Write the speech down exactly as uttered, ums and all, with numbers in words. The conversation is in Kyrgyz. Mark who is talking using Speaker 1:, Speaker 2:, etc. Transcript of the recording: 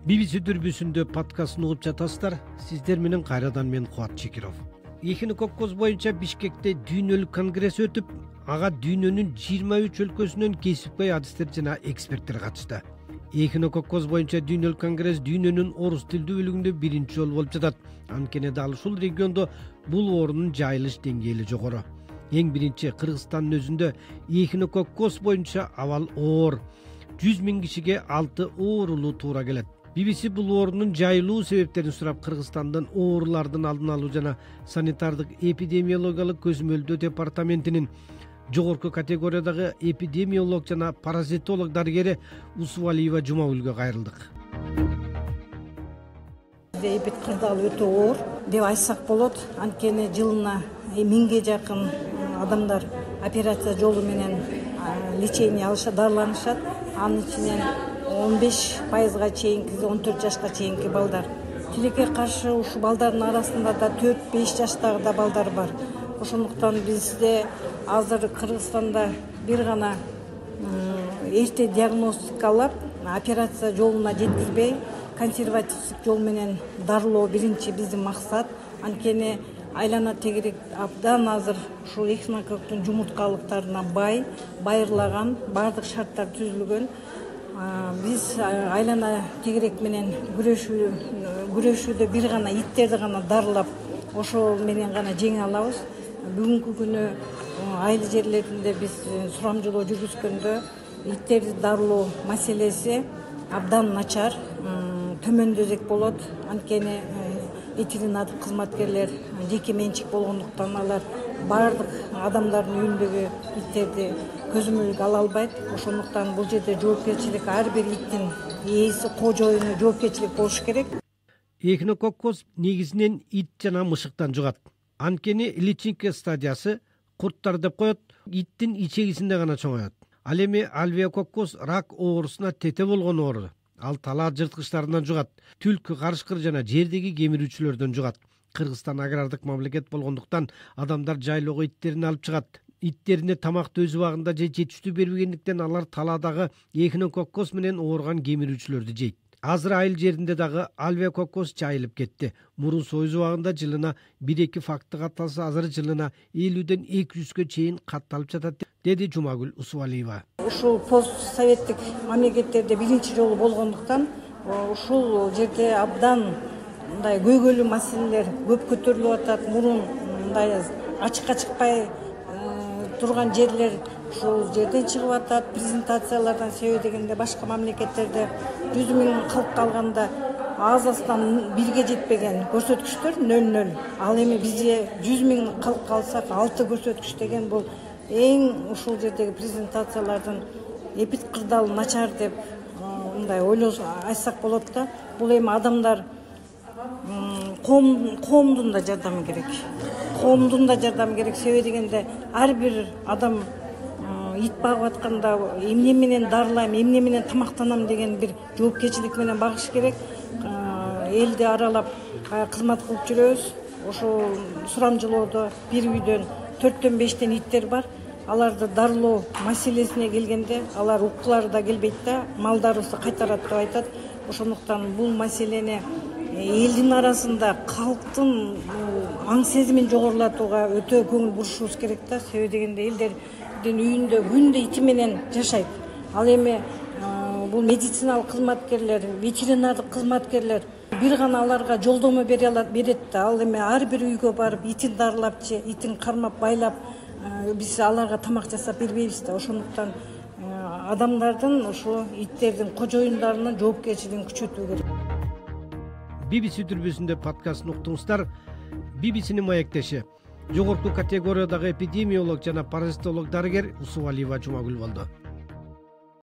Speaker 1: би би си дүрбүсүндө подкастын угуп жатасыздар. Сиздер менен кайрадан мен Кубат Чекиров. Эхинококкоз боюнча Бишкекте дүйнөлүк конгресс өтүп, ага дүйнөнүн жыйырма үч өлкөсүнөн кесипкөй адистер жана эксперттер катышты. Эхинококкоз боюнча дүйнөлүк конгресс дүйнөнүн орус тилдүү бөлүгүндө биринчи жолу болуп жатат. Анткени дал ушул региондо бул оорунун жайылыш деңгээли жогору. Эң биринчи Кыргызстандын өзүндө эхинококкоз боюнча абал оор. жүз миң кишиге алты оорулуу туура келет. би би си бул оорунун жайылуу себептерин сурап, Кыргызстандын оорулардын алдын алуу жана санитардык эпидемиологиялык көзөмөлдөө департаментинин жогорку категориядагы эпидемиолог жана паразитолог дарыгери Усубалиева Жумагүлгө кайрылдык.
Speaker 2: Эпид кырдаал өтө оор деп айтсак болот. Анткени жылына миңге жакын адамдар операция жолу менен лечение алышат, дарыланышат. Анын ичинен он беш пайызга чейинки, он төрт жашка чейинки балдар. Тилекке каршы ушул балдардын арасында да төрт беш жаштагы да балдар бар. Ошондуктан бизде азыр Кыргызстанда бир гана эрте диагностикалап, операция жолуна жеткирбей, консервативдик жол менен дарылоо биринчи биздин максат. Анткени айлана тегерек абдан азыр ушул эхинококктун жумурткалыктарына бай, байырлаган, баардык шарттар түзүлгөн. Биз айлана тегерек менен күрөшүү күрөшүүдө бир гана иттерди гана дарылап, ошол менен гана жеңе алабыз. Бүгүнкү күнү айыл жерлеринде биз сурамжылоо жүргүзгөндө иттерди дарылоо маселеси абдан начар, төмөндөзөк болот. Анткени ветеринар кызматкерлер жеке менчик болгондуктан алар баардык адамдардын үйүндөгү иттерди көзөмөлгө ала албайт. Ошондуктан бул жерде жоопкерчилик ар бир иттин ээси, кожоюну жоопкерчилик болуш керек.
Speaker 1: Эхинококкоз негизинен ит жана мышыктан жугат. Анткени личинка стадиясы курттар деп коет, иттин ичегисинде гана чоңоет. Ал эми альвеококкоз рак оорусуна тете болгон оору. Ал талаа жырткычтарынан жугат, түлкү, карышкыр жана жердеги кемирүүчүлөрдөн жугат. Кыргызстан агрардык мамлекет болгондуктан адамдар жайлоого иттерин алып чыгат. Иттерине тамакты өз убагында же жетиштүү бербегендиктен алар талаадагы эхинококкоз менен ооруган кемирүүчүлөрдү жейт. Азыр айыл жеринде дагы альвеококкоз жайылып кетти. Мурун союз убагында жылына бир эки факты катталса, азыр жылына элүүдөн эки жүзгө чейин катталып жатат, деди Жумагүл Усубалиева.
Speaker 2: Ушул постсоветтик мамлекеттерде биринчи жолу болгондуктан ушул жерде абдан мындай көйгөйлүү маселелер көп көтөрүлүп атат. Мурун мындай ачыкка чыкпай турган жерлер ушул жерден чыгып атат. Презентациялардан себеби дегенде башка мамлекеттерде жүз миң калк калганда аз аздан бирге жетпеген көрсөткүчтөр нөл нөл. Ал эми бизде жүз миң калк калсак алты көрсөткүч деген бул эң ушул жердеги презентациялардын эпид кырдаал начар деп мындай ойлосо айтсак болот да. Бул эми адамдар коом коомдун да жардамы керек. Коомдун да жардамы керек. Себеби дегенде ар бир адам ит багып атканда эмне менен дарылайм, эмне менен тамактанам деген бир жоопкерчилик менен багыш керек. Элди аралап кызмат кылып жүрөбүз. Ошол сурамжылоодо бир үйдөн төрттөн бештен иттер бар. Аларды дарылоо маселесине келгенде алар уккулары да келбейт да, малдарыбызды кайтарат деп айтат. Ошондуктан бул маселени элдин арасында калктын аң сезимин жогорулатууга өтө көңүл бурушубуз керек да. Себеби дегенде элдердин үйүндө күндө ити менен жашайт. Ал эми бул медициналык кызматкерлер, ветеринардык кызматкерлер бир гана аларга жолдомо бере алат, берет да. Ал эми ар бир үйгө барып итин дарылап же итин кармап, байлап биз аларга тамак жасап бербейбиз да. Ошондуктан адамдардын ошо иттердин кожоюндарынын жоопкерчилигин күчөтүү керек.
Speaker 1: би би си дүрбүсүндө подкастын уктуңуздар. би би синин маектеши жогорку категориядагы эпидемиолог жана паразитолог дарыгер Усубалиева Жумагүл болду.